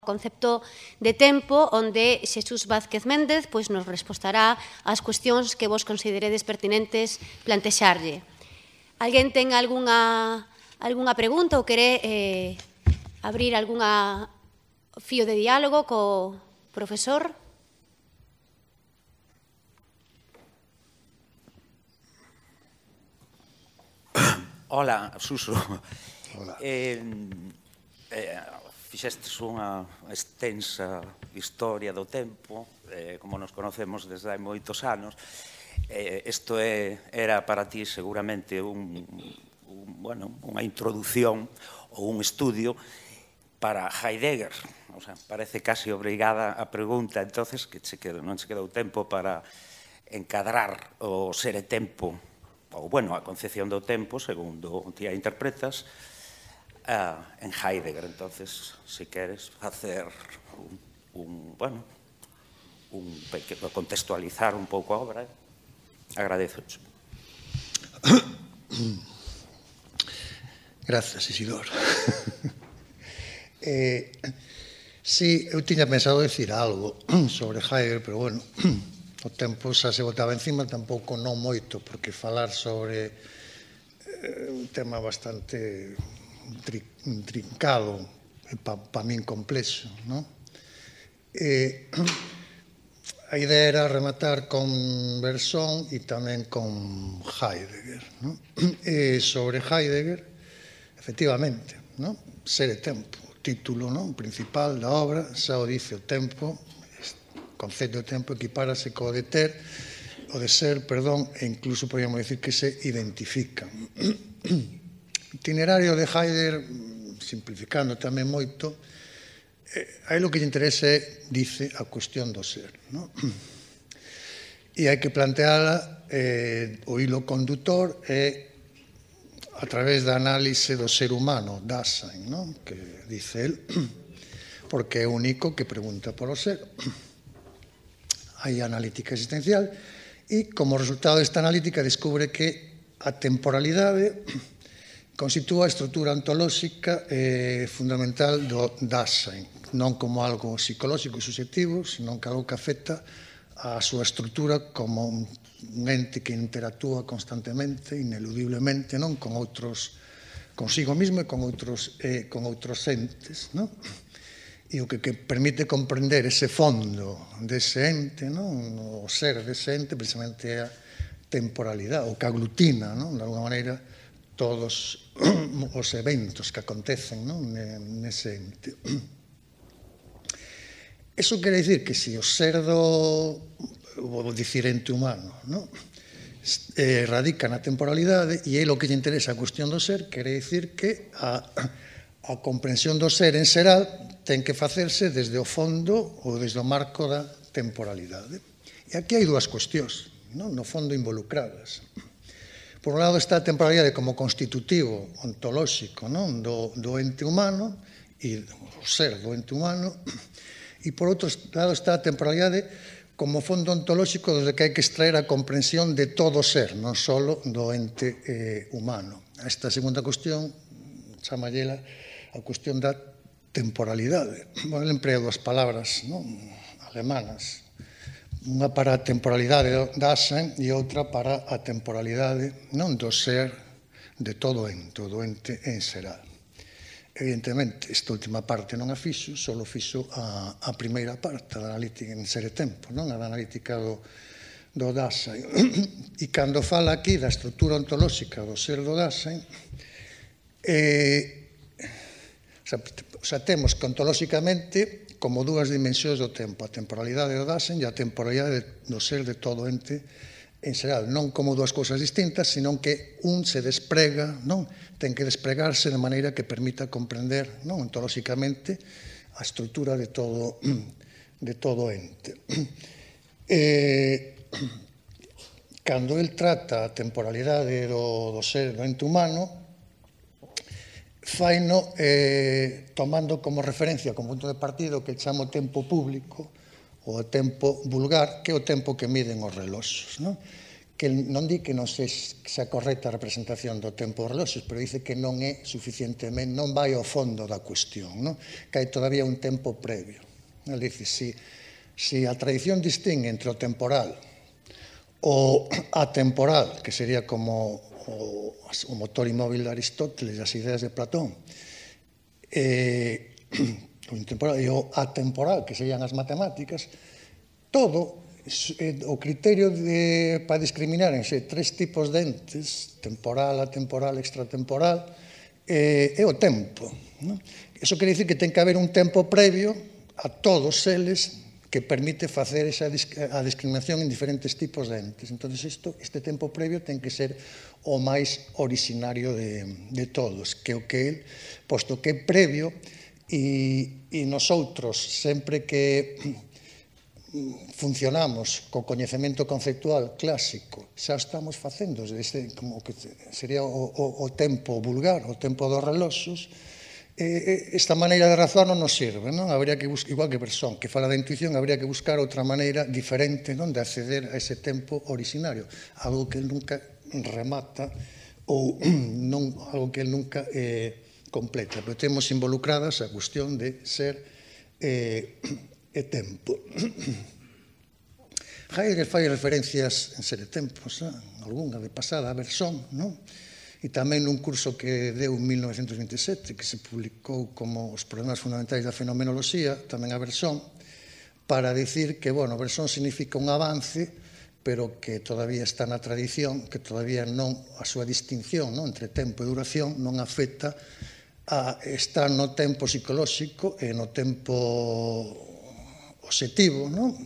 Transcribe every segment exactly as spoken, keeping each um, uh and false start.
concepto de tempo, onde Xesús Vázquez Méndez pois, nos respostará ás cuestións que vos consideredes pertinentes plantexarlle. Alguén ten algunha, algunha pregunta ou quere eh, abrir algunha fío de diálogo co profesor? Hola, Suso. Hola. Eh, eh, fixestes unha extensa historia do tempo, eh, como nos conocemos desde hai moitos anos. Eh, isto é, era para ti seguramente un, un, bueno, unha introducción ou un estudio para Heidegger. O sea, parece casi obrigada a pregunta, entonces, que che quedou, non che quedou tempo para encadrar o ser e tempo, ou, bueno, a concepción do tempo, segundo ti a interpretas, uh, en Heidegger. Entonces, se queres facer un, un bueno, un pequeno, contextualizar un pouco a obra, agradezo. Gracias, Isidor. eh, sí, eu tiña pensado decir algo sobre Heidegger, pero, bueno, o tempo xa se botaba encima, tampouco non moito, porque falar sobre eh, un tema bastante tri, trincado e pa, pa min complexo, non? Eh, a idea era rematar con Bersón e tamén con Heidegger, non? E sobre Heidegger, efectivamente, non? Ser e tempo, o título, non? Principal da obra, xa o dice, o tempo, o concepto de tempo equipárase co de ter, o de ser, perdón, e incluso podríamos decir que se identifican. O itinerario de Heidegger, simplificando tamén moito, eh, aí o que lle interesa é, dice, a cuestión do ser, non? E hai que planteala, eh, o hilo condutor é a través da análise do ser humano, Dasein, non? Que dice el, porque é o único que pregunta polo ser. Hai analítica existencial e, como resultado desta analítica, descubre que a temporalidade constitúa a estrutura ontolóxica eh, fundamental do Dasein, non como algo psicolóxico e subjetivo, senón que algo que afecta a súa estrutura como un ente que interactúa constantemente, ineludiblemente, non, con outros, consigo mismo e con outros, eh, con outros entes, non? E o que, que permite comprender ese fondo dese ente, non? O ser dese ente, precisamente é a temporalidade, o que aglutina, non? De alguma maneira, todos os eventos que acontecen, non? Nese ente. Eso quere dicir que se o ser do, vou dicir, ente humano, non? Eh, radica na temporalidade e é o que lle interesa a cuestión do ser, quere dicir que a, a comprensión do ser en xeral ten que facerse desde o fondo ou desde o marco da temporalidade. E aquí hai dúas cuestións, non? No fondo involucradas. Por un lado está a temporalidade como constitutivo ontolóxico, non? Do, do ente humano e o ser do ente humano, e por outro lado está a temporalidade como fondo ontolóxico desde que hai que extraer a comprensión de todo ser, non só do ente eh, humano. Esta segunda cuestión chamallela a cuestión da temporalidade. Bueno, ele emprega dúas palabras, non? Alemanas. Unha para a temporalidade Dasein e outra para a temporalidade, non, do ser de todo ente, do ente en xeral. Evidentemente, esta última parte non a fixo, só fixo a, a primeira parte da analítica en ser e tempo, non? A da analítica do, do Dasein. E cando fala aquí da estrutura ontolóxica do ser do Dasein, eh, o sea, o sea, temos que ontolóxicamente como dúas dimensións do tempo, a temporalidade do Dasein e a temporalidade do ser de todo ente en xeral, non como dúas cousas distintas, senón que un se desprega, non? Ten que despregarse de maneira que permita comprender, non, ontolóxicamente a estrutura de todo de todo ente. Eh, cando el trata a temporalidade do, do ser do ente humano, faino eh, tomando como referencia, como punto de partida, o que chamo tempo público, o tempo vulgar, que é o tempo que miden os reloxos, non? que non di que non se xa correcta a representación do tempo dos reloxos, pero dice que non é suficientemente, non vai ao fondo da cuestión, non? Que hai todavía un tempo previo. Ele dice, si, si a tradición distingue entre o temporal o atemporal, que sería como o, o motor inmóvil de Aristóteles e as ideas de Platón, e, o temporal e o atemporal, que serían as matemáticas, todo o criterio de, para discriminar entre tres tipos de entes, temporal, atemporal, extratemporal, eh, é o tempo. Non? Iso quere dicir que ten que haber un tempo previo a todos eles que permite facer esa a discriminación en diferentes tipos de entes. Entón, isto, este tempo previo ten que ser o máis originario de, de todos, que o que el, posto que é previo, e, e nosotros, sempre que funcionamos co coñecemento conceptual clásico, xa estamos facendo desde, como que sería o, o, o tempo vulgar, o tempo dos reloxos, eh, esta maneira de razoar non nos sirve, non? Habría que buscar, igual que Bresson, que fala da intuición, habría que buscar outra maneira diferente, non, de acceder a ese tempo originario, algo que nunca remata ou non, algo que nunca eh, completa, pero temos involucradas a cuestión de ser eh, e tempo. Heidegger fai referencias en Ser e Tempos, algunha de pasada a Bresson, non? E tamén nun curso que deu en mil novecentos vinte e sete, que se publicou como Os problemas fundamentais da fenomenoloxía, tamén a Bresson, para dicir que, bueno, Bresson significa un avance, pero que todavía está na tradición, que todavía non, a súa distinción, non, entre tempo e duración non afecta a estar no tempo psicolóxico e no tempo obxectivo, non?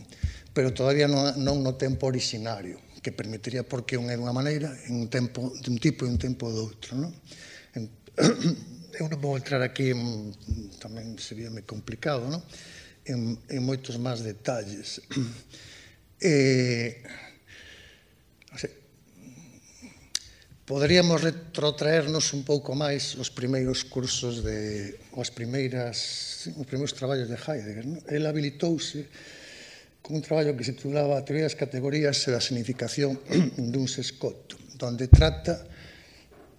Pero todavía non, non no tempo originario, que permitiría porque un é dunha maneira, en un tempo dun tipo e un tempo do outro, non? Eu non vou entrar aquí, en, tamén sería moi complicado, non? En, en moitos máis detalles. Eh, non sei, poderíamos retrotraernos un pouco máis os primeiros cursos de, as primeiras, os primeiros traballos de Heidegger, non? El habilitouse con un traballo que se titulaba A teoría das categorías e da significación dun sescoto, donde trata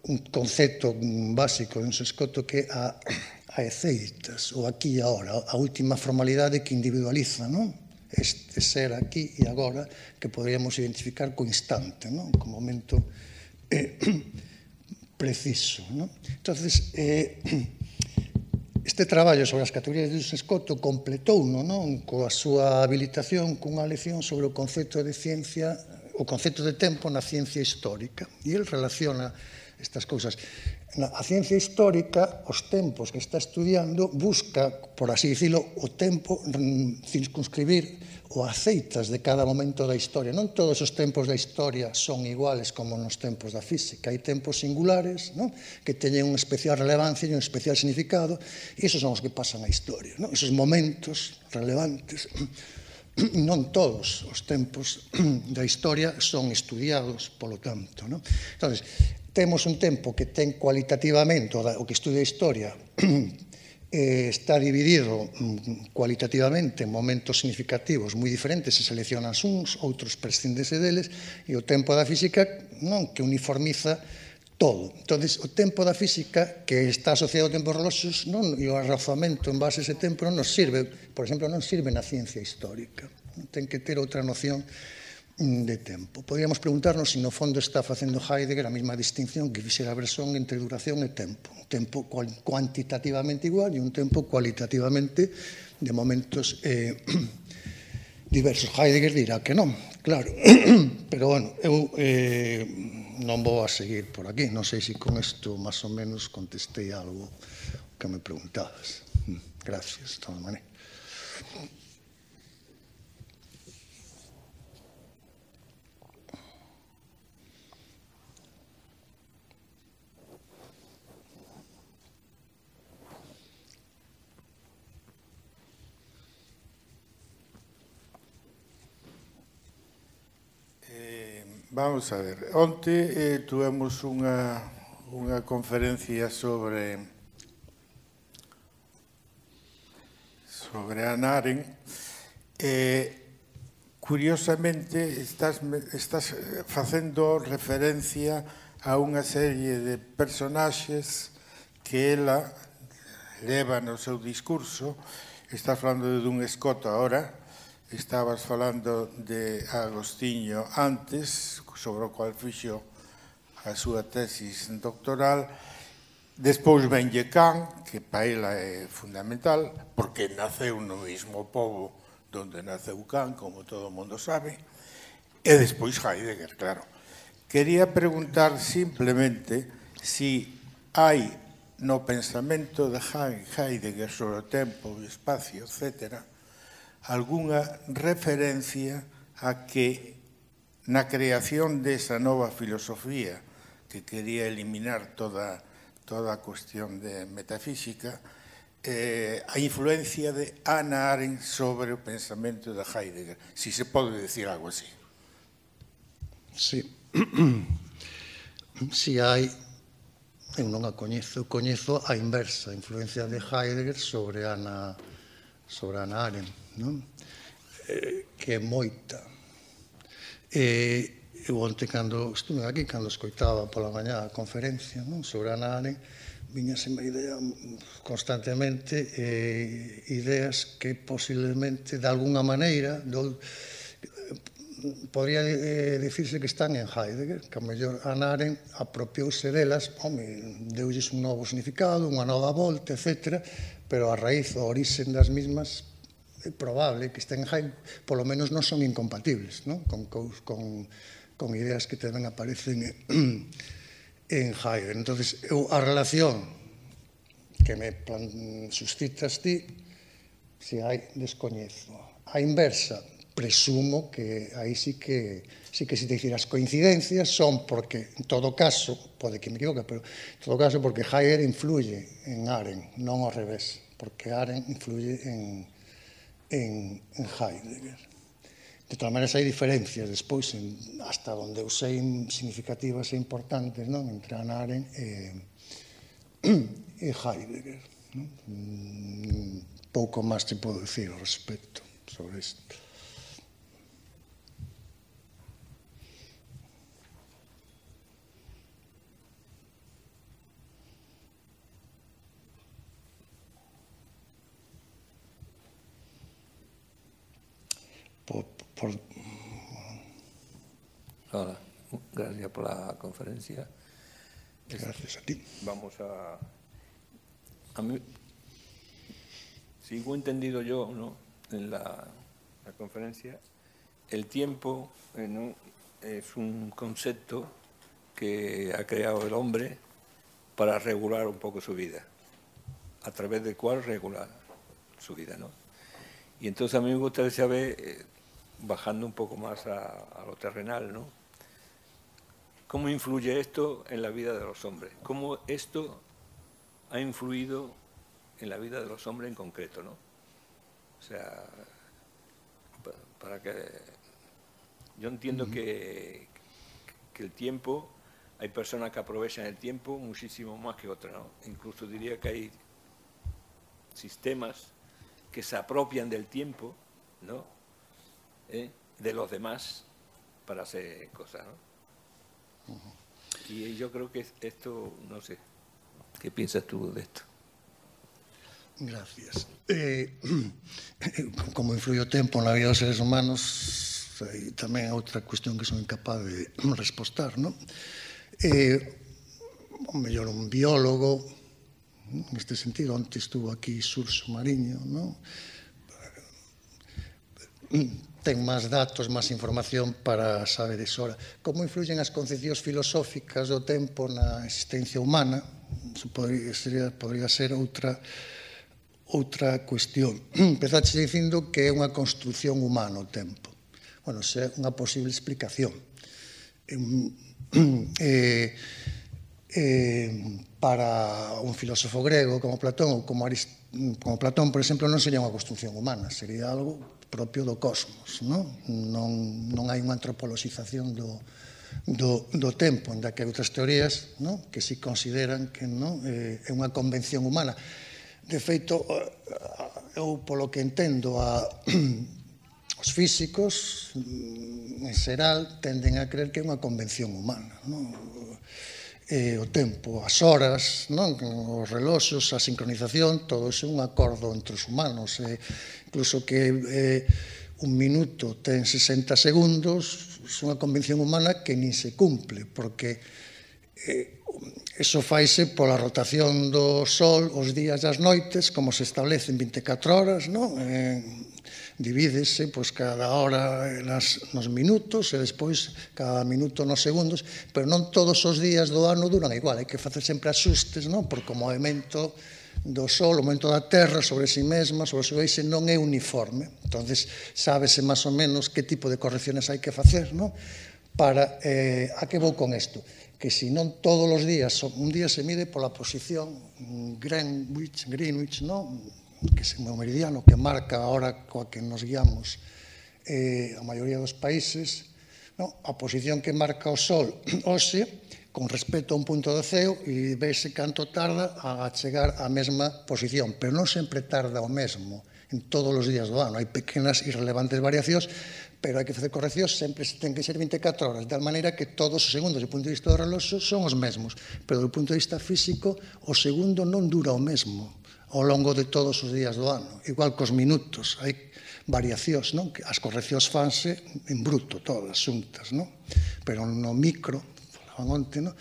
un concepto básico de un sescoto que é a, a eceitas, o aquí e agora, a última formalidade que individualiza, non? Este ser aquí e agora que poderíamos identificar co instante, non? Co momento eh, preciso, non? Entonces, eh, este traballo sobre as categorías de Sescoto completouno, non? Coa súa habilitación cunha lección sobre o concepto de ciencia, o concepto de tempo na ciencia histórica. E el relaciona estas cousas. A ciencia histórica, os tempos que está estudiando, busca, por así dicilo, o tempo, circunscribir o aceitas de cada momento da historia. Non todos os tempos da historia son iguales como nos tempos da física. Hai tempos singulares, non? Que teñen unha especial relevancia e un especial significado, e esos son os que pasan a historia, non? Esos momentos relevantes. Non todos os tempos da historia son estudiados, polo tanto, non? Entón, temos un tempo que ten cualitativamente, o que estudia a historia, está dividido cualitativamente en momentos significativos moi diferentes, se seleccionan uns, outros prescindese deles, e o tempo da física non que uniformiza todo. Entón, o tempo da física que está asociado ao tempo dos reloxos e o arrazamento en base a ese tempo non nos sirve, por exemplo, non sirve na ciencia histórica. Ten que ter outra noción de tempo. Podríamos preguntarnos se no fondo está facendo Heidegger a mesma distinción que fixera Bresson entre duración e tempo. Un tempo cuantitativamente igual e un tempo cualitativamente de momentos eh, diversos. Heidegger dirá que non, claro. Pero, bueno, eu eh, non vou a seguir por aquí. Non sei se con isto máis ou menos contestei algo que me preguntabas. Gracias, de toda maneira. Vamos a ver, onte eh, tuvemos unha, unha conferencia sobre sobre Hannah Arendt. Eh, curiosamente, estás, estás facendo referencia a unha serie de personaxes que ela leva no seu discurso. Estás falando de Dun Escoto agora, estabas falando de Agostinho antes, sobre o cual fixo a súa tesis doctoral. Despois venlle Kant, que para ela é fundamental, porque naceu no mesmo pobo donde naceu Kant, como todo o mundo sabe, e despois Heidegger, claro. Quería preguntar simplemente si hai no pensamento de Heidegger sobre o tempo, o espacio, etcétera, algunha referencia a que na creación desa nova filosofía que quería eliminar toda toda a cuestión de metafísica, eh, a influencia de Hannah Arendt sobre o pensamento de Heidegger, si se pode decir algo así. Sí. Si hai, eu non a coñezo, coñezo a inversa, a influencia de Heidegger sobre Hannah, sobre Hannah Arendt, non? Eh, que é moita. E eu onte, cando estuve aquí, cando escoitaba pola mañá a conferencia, non, sobre Hannah Arendt, viñaseme a idea constantemente, eh, ideas que posiblemente, de alguna maneira, do, podría eh, dicirse que están en Heidegger, que a mellor Hannah Arendt apropiouse delas, home, deulles un novo significado, unha nova volta, etcétera, pero a raíz, o orixen das mismas, é probable que estén en Heidegger, polo menos non son incompatibles, non? Con, con, con ideas que tamén aparecen en, en Heidegger. Entonces, eu, a relación que me plan, suscitas ti, se hai, descoñezo. A inversa, presumo que aí sí que sí que se te dicir as coincidencias son porque, en todo caso, pode que me equivoque, pero en todo caso porque Heidegger influye en Arendt, non ao revés, porque Arendt influye en, en, en Heidegger. De todas maneiras, hai diferencias despois, en, hasta onde eu sei significativas e importantes, non? Entre Hannah Arendt e, e Heidegger. Non? Mm, pouco máis te podo dicir ao respecto sobre isto. Por, por... Hola, gracias por la conferencia. Gracias a ti. Vamos a... A mí, según he entendido yo, ¿no?, en la, la conferencia, el tiempo, eh, ¿no?, es un concepto que ha creado el hombre para regular un poco su vida, a través del cual regular su vida, ¿no? Y entonces a mí me gustaría saber, eh, bajando un poco más a, a lo terrenal, ¿no?, ¿cómo influye esto en la vida de los hombres? ¿Cómo esto ha influido en la vida de los hombres en concreto, ¿no? O sea, para que... Yo entiendo uh-huh. que, que el tiempo, hay personas que aprovechan el tiempo muchísimo más que otras, ¿no? Incluso diría que hay sistemas que se apropian del tiempo, ¿no?, ¿Eh? de los demás para hacer cosas, ¿no? Uh-huh. Y yo creo que esto, no sé, ¿qué piensas tú de esto? Gracias. Eh, como influye o tempo na vida dos seres humanos, e tamén é outra cuestión que son incapaz de respostar, non? Eh, o mellor un biólogo, neste sentido, onte estuvo aquí Surso Mariño, non? Ten máis datos, máis información para saber iso. Como influyen as concepcións filosóficas do tempo na existencia humana? Eso podría, sería, podría ser outra outra cuestión. Empezaste dicindo que é unha construción humana o tempo. Bueno, esa é unha posible explicación. Eh, eh, para un filósofo grego como Platón ou como, Arist como Platón, por exemplo, non sería unha construción humana, sería algo propio do cosmos, non? Non, non hai unha antropoloxización do, do, do tempo, onde que hai outras teorías, non?, que si consideran que non eh, é unha convención humana. De feito, eu, polo que entendo, a, o os físicos, en xeral, tenden a creer que é unha convención humana, non? Eh, o tempo, as horas, non? Os reloxos, a sincronización, todo iso é un acordo entre os humanos. Eh, incluso que eh, un minuto ten sesenta segundos, é unha convención humana que nin se cumple, porque eh, eso faise pola rotación do Sol os días e as noites, como se establecen vinte e catro horas, non? Eh, divídese pois, cada hora nas, nos minutos e despois cada minuto nos segundos, pero non todos os días do ano duran igual, hai que facer sempre axustes, non? Porque o movimento do Sol, o movimento da Terra sobre si mesma, sobre o seu eixe, non é uniforme. Entonces, sábese máis ou menos que tipo de correcciones hai que facer, non? Para, eh, a que vou con isto? Que se non todos os días, un día se mide pola posición Greenwich, Greenwich, non? Que é o meridiano que marca a hora coa que nos guiamos eh, a maioría dos países, non? A posición que marca o Sol hoxe con respecto a un punto do ceo e vese canto tarda a chegar á mesma posición, pero non sempre tarda o mesmo en todos os días do ano, hai pequenas e irrelevantes variacións, pero hai que facer correccións, sempre ten que ser vinte e catro horas, de tal maneira que todos os segundos do punto de vista do reloxo son os mesmos, pero do punto de vista físico o segundo non dura o mesmo ao longo de todos os días do ano. Igual cos minutos, hai variacións, non? As correccións fanse en bruto, todas xuntas, non? Pero no micro, falaban onte, non?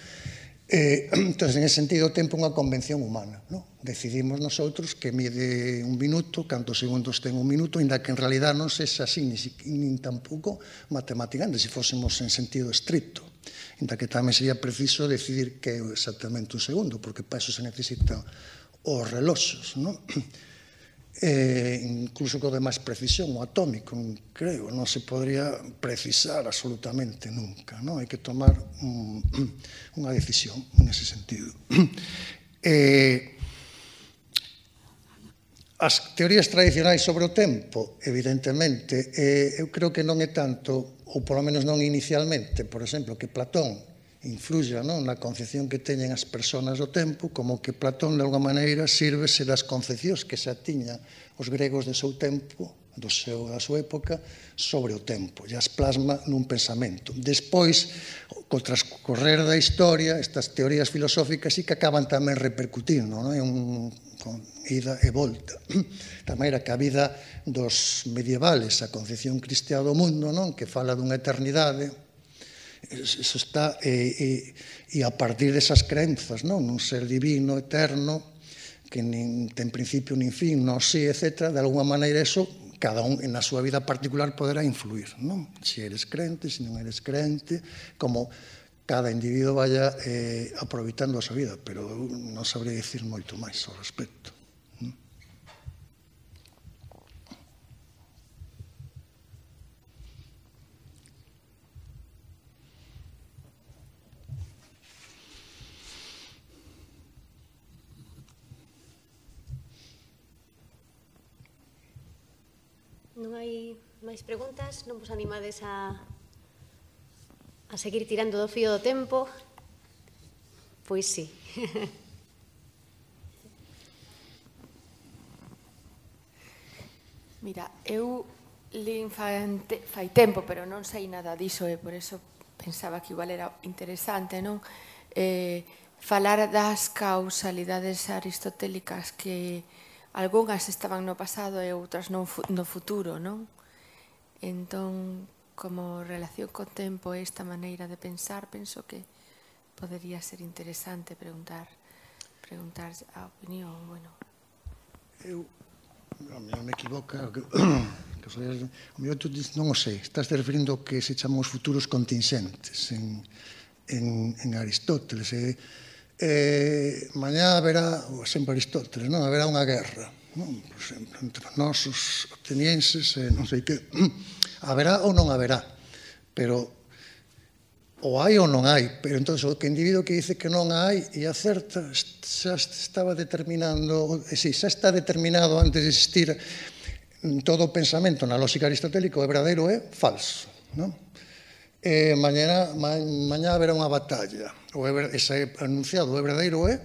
Eh, entón, en ese sentido, o tempo é unha convención humana, non? Decidimos nosotros que mide un minuto, cantos segundos ten un minuto, ainda que en realidad non sexa así, ni, nin tampouco matemáticamente, se fósemos en sentido estricto. Ainda que tamén sería preciso decidir que é exactamente un segundo, porque para eso se necesita os reloxos, non? Eh, incluso co de máis precisión, o atómico, creo, non se podría precisar absolutamente nunca, non? Hai que tomar un, unha decisión en ese sentido. Eh, as teorías tradicionais sobre o tempo, evidentemente, eh, eu creo que non é tanto, ou polo menos non inicialmente, por exemplo, que Platón influya, non, na concepción que teñen as persoas do tempo, como que Platón, de alguma maneira, sírvese das concepcións que xa tiñan os gregos do seu tempo, do seu, da súa época, sobre o tempo, e as plasma nun pensamento. Despois, co transcorrer da historia, estas teorías filosóficas sí que acaban tamén repercutindo, non? É un con ida e volta. Da maneira que a vida dos medievales, a concepción cristiá do mundo, non? Que fala dunha eternidade, eso está, e, e, e a partir desas crenzas, non? Un ser divino, eterno, que nin ten principio nin fin, non sí, etcétera, de alguma maneira eso, cada un na súa vida particular poderá influir, non? Se eres crente, se non eres crente, como cada individuo vaya eh, aproveitando a súa vida, pero non sabría dicir moito máis ao respecto. Non hai máis preguntas? Non vos animades a, a seguir tirando do fío do tempo? Pois sí. Mira, eu lin fai tempo, pero non sei nada diso, e por eso pensaba que igual era interesante, non? Eh, falar das causalidades aristotélicas que algunhas estaban no pasado e outras no futuro, non? Entón, como relación co tempo e esta maneira de pensar, penso que podería ser interesante preguntar preguntar a opinión, bueno. Eu, a mí non me equivoca, que, que o mellor tú dices, non o sei, estás te referindo ao que se chaman os futuros contingentes en, en, en Aristóteles, e Eh, mañá haberá, sempre Aristóteles, non? Haberá unha guerra, non? Por exemplo, entre nós os atenienses, eh, non sei que, haberá ou non haberá, pero ou hai ou non hai, pero entón o que individuo que dice que non hai e acerta, xa estaba determinando, eh, sí, xa está determinado antes de existir todo o pensamento na lógica aristotélica, o verdadeiro é falso, non? Eh, mañana, ma, mañá haberá unha batalla, o é, ese anunciado, o verdadeiro é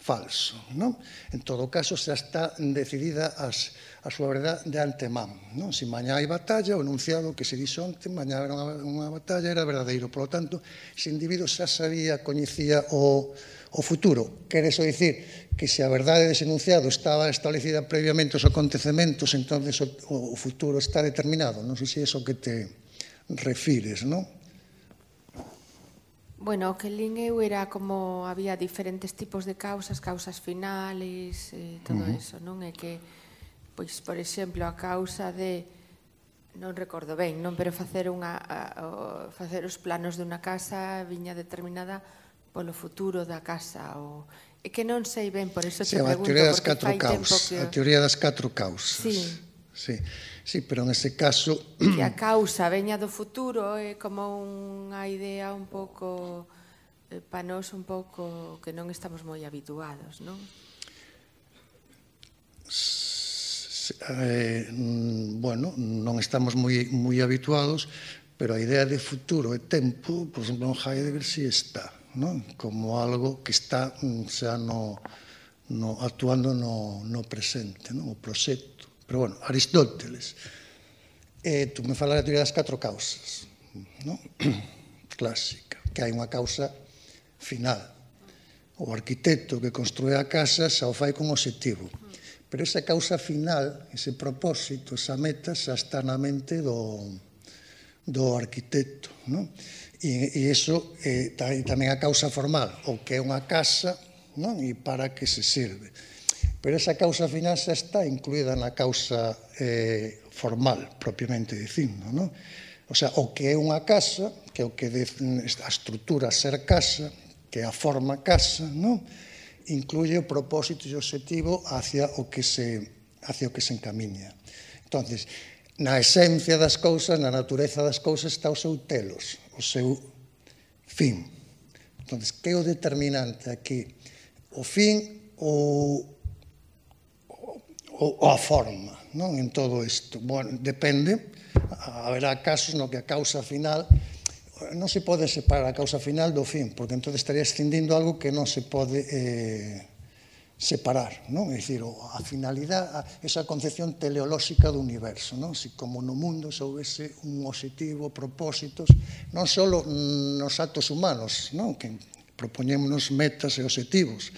falso, non? En todo caso, xa está decidida as, a súa verdade de antemán, non? Se mañá hai batalla, o enunciado que se dixo onte, mañá era unha, unha batalla, era verdadeiro. Por lo tanto, ese individuo xa sabía, coñecía o, o futuro. Quere iso dicir que se a verdade dese enunciado estaba establecida previamente os acontecementos, entonces o, o futuro está determinado. Non sei se é iso que te refires, non? Bueno, o que lín eu era como había diferentes tipos de causas, causas finales, e todo uh -huh. eso, non? É que, pois, por exemplo, a causa de, non recordo ben, non, pero facer unha a, o, facer os planos de unha casa viña determinada polo futuro da casa, o é que non sei ben, por eso te sí, pregunto, a teoría das porque catro fai tempo causas, que... a teoría das catro causas. Sí. Sí, sí, pero nese caso... Que a causa veña do futuro é como unha idea un pouco, eh, pa nós un pouco que non estamos moi habituados, non? Eh, bueno, non estamos moi, moi habituados, pero a idea de futuro e tempo, por exemplo, en Heidegger si está, non? Como algo que está xa no, no, actuando no, no presente, non? O proxecto. Pero, bueno, Aristóteles, eh, tú me falas da teoría das catro causas, non? Clásica, que hai unha causa final. O arquitecto que construe a casa xa o fai con obxectivo. Pero esa causa final, ese propósito, esa meta, xa está na mente do, do arquitecto, non? E, e iso eh, tamén a causa formal, o que é unha casa, non? E para que se serve. Pero esa causa final xa está incluída na causa eh, formal, propiamente dicindo, non? O sea, o que é unha casa, que é o que de, a estrutura ser casa, que é a forma casa, non? Incluye o propósito e o objetivo hacia o que se, hacia o que se encamiña. Entonces, na esencia das cousas, na natureza das cousas, está o seu telos, o seu fin. Entonces, que é o determinante aquí? O fin ou ou a forma, non? En todo isto. Bueno, depende, haberá casos no que a causa final non se pode separar a causa final do fin, porque entón estaría escindindo algo que non se pode eh, separar, non? É dicir, a finalidade, esa concepción teleolóxica do universo, non? Si como no mundo se houvese un objetivo, propósitos, non só nos actos humanos, non? Que propoñémonos metas e objetivos,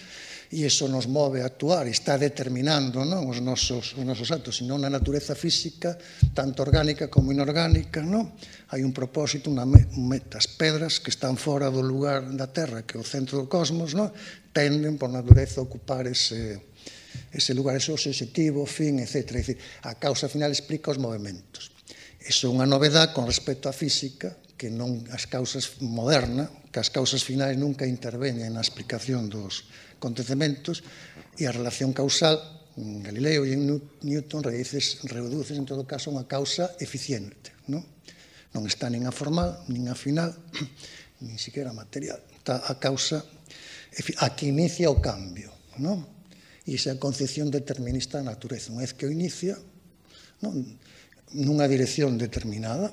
e iso nos move a actuar e está determinando, non, os nosos, os nosos actos, senón na natureza física, tanto orgánica como inorgánica, non? Hai un propósito, unha meta. As pedras que están fora do lugar da Terra, que é o centro do cosmos, non? Tenden, por natureza, a ocupar ese, ese lugar, ese objetivo, fin, etcétera. É dicir, a causa final explica os movimentos. Iso é unha novedade con respecto á física, que non as causas modernas, que as causas finais nunca interveñen na explicación dos acontecementos, e a relación causal, en Galileo e en Newton, reduces en todo caso unha causa eficiente, non? Non está nin a formal, nin a final, nin siquiera material. Está a causa a que inicia o cambio, non? E esa concepción determinista da natureza. Unha vez que o inicia, non? Nunha dirección determinada,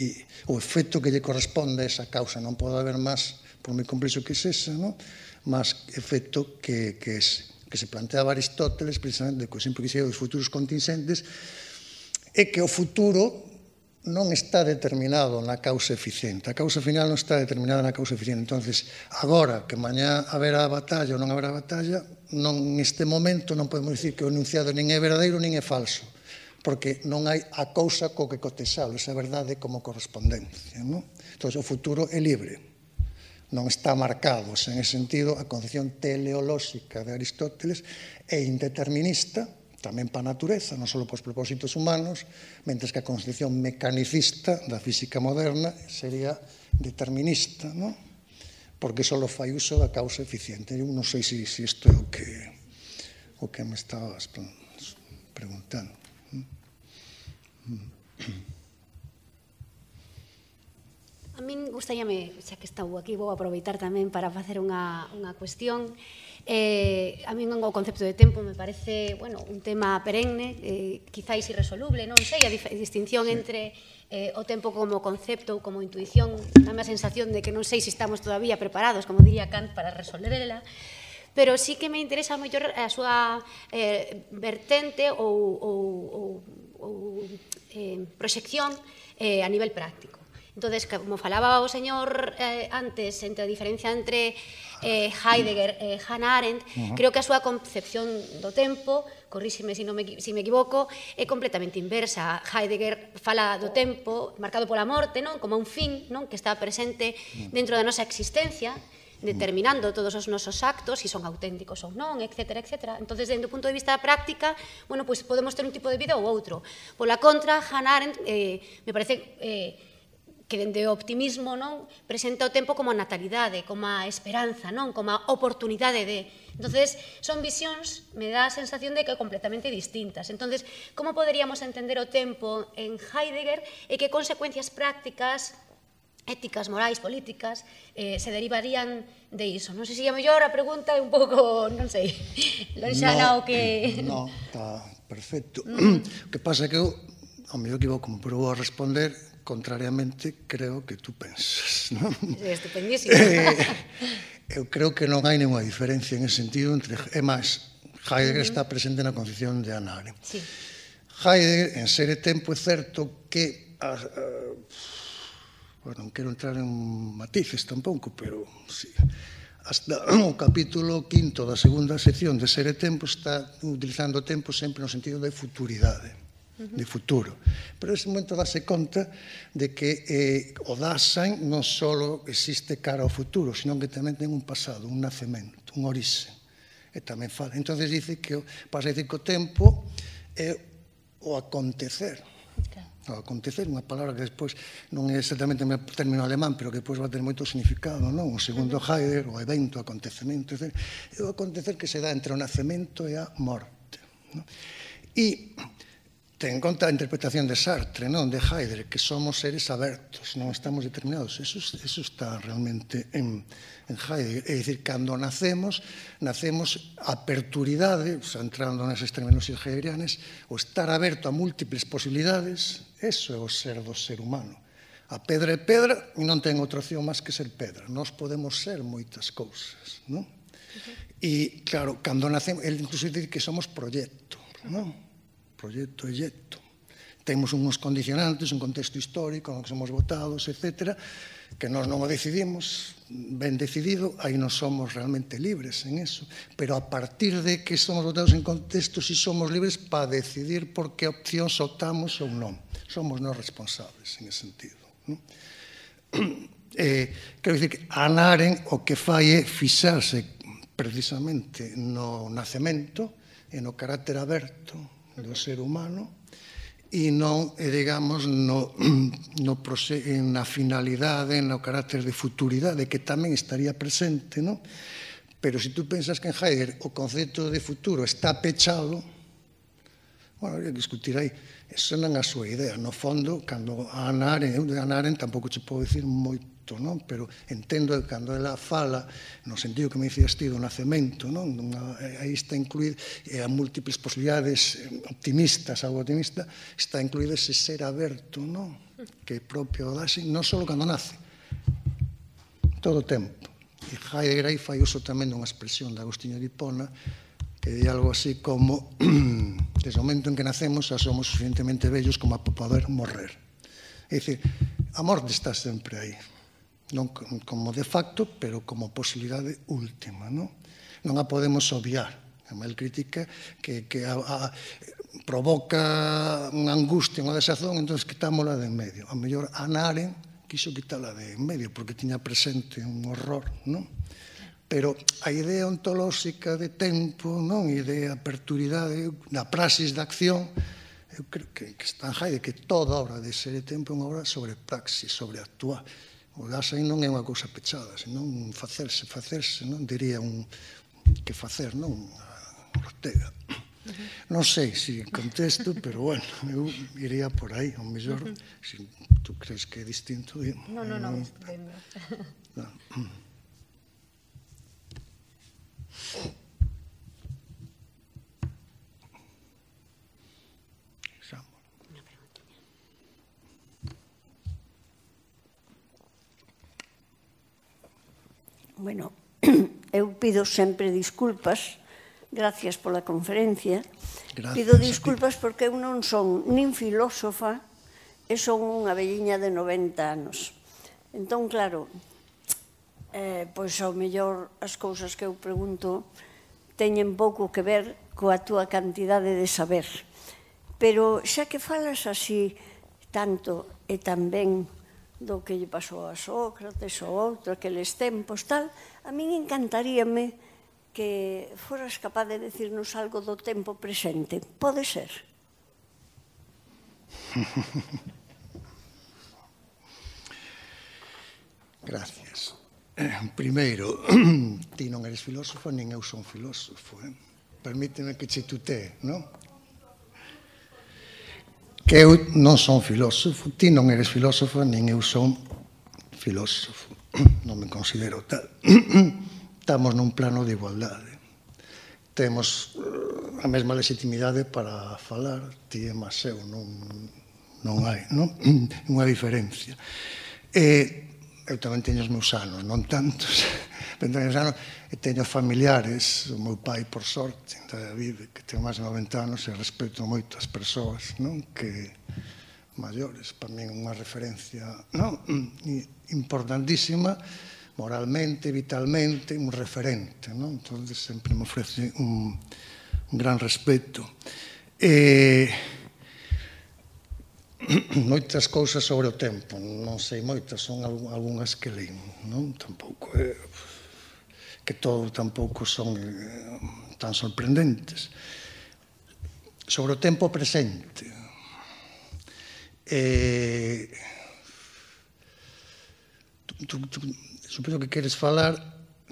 e o efecto que lle corresponde a esa causa non pode haber máis, por moi complexo que sexa, non? Máis efecto que, que, es, que se planteaba Aristóteles, precisamente, co exemplo que se dos futuros contingentes, é que o futuro non está determinado na causa eficiente. A causa final non está determinada na causa eficiente. Entonces, agora que mañá haberá batalla ou non haberá batalla, non, neste momento non podemos dicir que o enunciado nin é verdadeiro nin é falso, porque non hai a cousa co que cotexalo, esa verdade como correspondencia, non? Entón, o futuro é libre. Non está marcado, en ese sentido, a concepción teleolóxica de Aristóteles é indeterminista, tamén para a natureza, non só para os propósitos humanos, mentres que a concepción mecanicista da física moderna sería determinista, non? Porque só fai uso da causa eficiente. Eu non sei se isto é o que, o que me estabas preguntando. A min gustaríame, xa que estou aquí, vou aproveitar tamén para facer unha, unha cuestión. Eh, a min o concepto de tempo me parece, bueno, un tema perenne, eh, quizáis irresoluble, non sei, a distinción entre eh, o tempo como concepto ou como intuición, dame a sensación de que non sei se estamos todavía preparados, como diría Kant, para resolverla. pero sí que me interesa mellor a súa eh, vertente ou, ou, ou, ou eh, proxección eh, a nivel práctico. Entonces, como falaba o señor eh, antes, entre a diferencia entre eh, Heidegger e Hannah Arendt, uh-huh. creo que a súa concepción do tempo, corríxime se non me, si me equivoco, é completamente inversa. Heidegger fala do tempo marcado pola morte, non, como un fin, non, que está presente dentro da nosa existencia, determinando todos os nosos actos, se son auténticos ou non, etcétera, etcétera. Entón, desde o punto de vista da práctica, bueno, pues podemos ter un tipo de vida ou outro. Pola contra, Hannah Arendt, eh, me parece eh, que dende o optimismo, non, presenta o tempo como a natalidade, como a esperanza, non, como a oportunidade de... Entonces, son visións, me dá a sensación de que completamente distintas. Entonces, como poderíamos entender o tempo en Heidegger e que consecuencias prácticas, éticas, morais, políticas, eh, se derivarían de iso? Non sei se a mellor a pregunta é un pouco, non sei, lonxana no, o que... No, está perfecto. Mm. O que pasa é que eu, ao mellor que vou como probo a responder, contrariamente, creo que tú pensas, non? É estupendísimo. Eh, eu creo que non hai nenhuma diferencia en ese sentido entre... É máis, Heidegger uh-huh. está presente na concepción de Hannah Arendt. Sí. Heidegger, en Ser e Tempo, é certo que... Uh, uh, bueno, non quero entrar en matices tampouco, pero sí, hasta o capítulo quinto da segunda sección de Ser e Tempo está utilizando o tempo sempre no sentido de futuridade, de futuro. Pero nese momento dáse conta de que eh, o Dasein non só existe cara ao futuro, senón que tamén ten un pasado, un nacemento, un orixe. E tamén fala. Entón, dice que pasa a decir que o tempo é o acontecer. O acontecer, unha palabra que despois non é exactamente o término alemán, pero que despois va a ter moito significado, non? O segundo Heidegger, o evento, o acontecemento, é o acontecer que se dá entre o nacemento e a morte. E ten en conta a interpretación de Sartre, non, de Heidegger, que somos seres abertos, non estamos determinados. Eso, eso está realmente en, en Heidegger. É dicir, cando nacemos, nacemos aperturidade, o sea, entrando nesas terminoloxías heideggerianas, o estar aberto a múltiples posibilidades, eso é o ser do ser humano. A pedra é pedra e non ten outra opción máis que ser pedra. Nós podemos ser moitas cousas, non? E, claro, cando nacemos, ele incluso dice que somos proxecto, non? Proxecto e xecto. Temos uns condicionantes, un contexto histórico no que somos votados, etcétera, que nós non o decidimos, ben decidido, aí non somos realmente libres en eso, pero a partir de que somos votados en contexto, si somos libres para decidir por que opcións optamos ou non. Somos nós responsables en ese sentido. Non? Eh, quero dicir que Hannah Arendt o que fai é fixarse precisamente no nacemento e no carácter aberto do ser humano e non, digamos, no, no, na finalidade, no carácter de futuridade, que tamén estaría presente, non? Pero se tú pensas que en Heidegger o concepto de futuro está pechado, bueno, habría que discutir aí. Eso non é a súa idea. No fondo, cando Hannah Arendt, eu de Hannah Arendt tampouco che podo dicir moito, non? Pero entendo que cando ela fala, no sentido que me dicías ti do nacemento, non? Aí está incluído, e a múltiples posibilidades optimistas, algo optimista, está incluído ese ser aberto, non? Que é propio do Dasein, non só cando nace, todo o tempo. E Heidegger aí fai uso tamén dunha expresión de Agostinho de Hipona, que di algo así como desde o momento en que nacemos xa somos suficientemente vellos como para poder morrer. É dicir, a morte está sempre aí, non como de facto, pero como posibilidade última, non? Non a podemos obviar. El critica que, que a, a, provoca unha angustia, unha desazón, entón quitámola de en medio. A mellor Hannah Arendt quiso quitala de en medio porque tiña presente un horror, non? Pero a idea ontolóxica de tempo, non? E de aperturidade, da praxis de acción, eu creo que, que está en Heidegger, que toda obra de Ser e Tempo é unha obra sobre praxis, sobre actuar. O Dasein non é unha cousa pechada, senón facerse, facerse, non? Diría un que facer, non? Ortega. Non sei se contesto, pero bueno, eu iría por aí, ao mellor, se tú crees que é distinto. Non, non, non, estupendo. Bueno, eu pido sempre disculpas, gracias pola conferencia, Gracias, pido disculpas porque eu non son nin filósofa e son unha velliña de noventa anos. Entón, claro, eh, pois ao mellor as cousas que eu pregunto teñen pouco que ver coa túa cantidade de saber. Pero xa que falas así tanto e tamén do que lle pasou a Sócrates ou outro, aqueles tempos, tal, a min encantaríame que foras capaz de decirnos algo do tempo presente. Pode ser? Gracias. Primeiro, ti non eres filósofo, nin eu son filósofo. Eh? Permíteme que che tutee, non? Que eu non son filósofo, ti non eres filósofo, nin eu son filósofo. Non me considero tal. Estamos nun plano de igualdade. Temos a mesma legitimidade para falar, ti e máis eu, non, non hai, non? Unha diferencia. E eu tamén teño os meus anos, non tantos, pero teño os anos, e teño familiares, o meu pai, por sorte, ainda vive, que ten máis de noventa anos, e respeto moito as persoas, non? Que maiores, para mí unha referencia, non? Importantísima, moralmente, vitalmente, un referente, non? Entón, sempre me ofrece un, un gran respeto. E moitas cousas sobre o tempo, non sei moitas, son algunhas que leio, non? Tampouco é que todo tampouco son tan sorprendentes. Sobre o tempo presente, eh, supoño que queres falar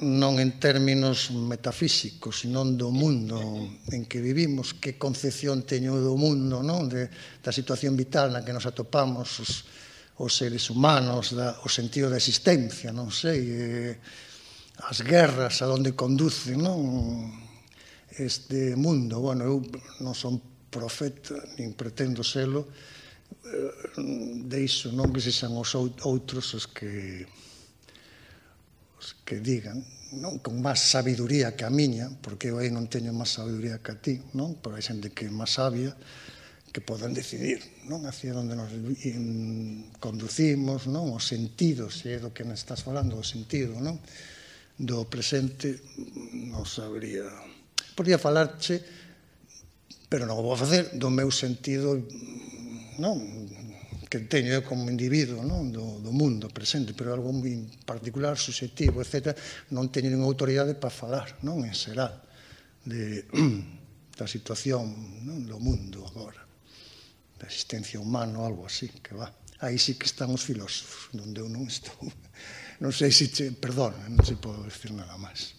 non en términos metafísicos, senón do mundo en que vivimos, que concepción teño do mundo, non? De, da situación vital na que nos atopamos os, os seres humanos, da, o sentido da existencia, non sei, eh, as guerras, a onde conducen, non? Este mundo, bueno, eu non son profeta, nin pretendo selo, eh, deixo, non que sexan os outros os que que digan, non, con máis sabiduría que a miña, porque eu aí non teño máis sabiduría que a ti, non? Pero hai xente que é máis sabia, que poden decidir, non? Hacia onde nos conducimos, non? Os sentidos, se é do que me estás falando, o sentido, non? Do presente, non sabría. Podría falarche, pero non o vou facer, do meu sentido, non? Que teño eu como individuo, non? Do, do mundo presente, pero algo moi particular, subjetivo, etcétera, non teño ninguna autoridade para falar, non? En xeral, de, da situación, non? Do mundo agora, da existencia humana ou algo así, que va. Aí sí que están os filósofos, onde eu non estou. Non sei se, che, perdón, non se podo decir nada máis.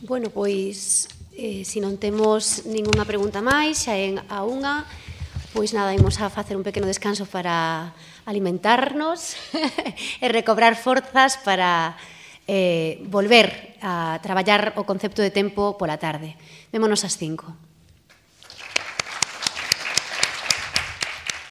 Bueno, pois, eh, se non temos ningunha pregunta máis, xa en a unha, pois nada, imos a facer un pequeno descanso para alimentarnos e recobrar forzas para eh, volver a traballar o concepto de tempo pola tarde. Vémonos ás cinco.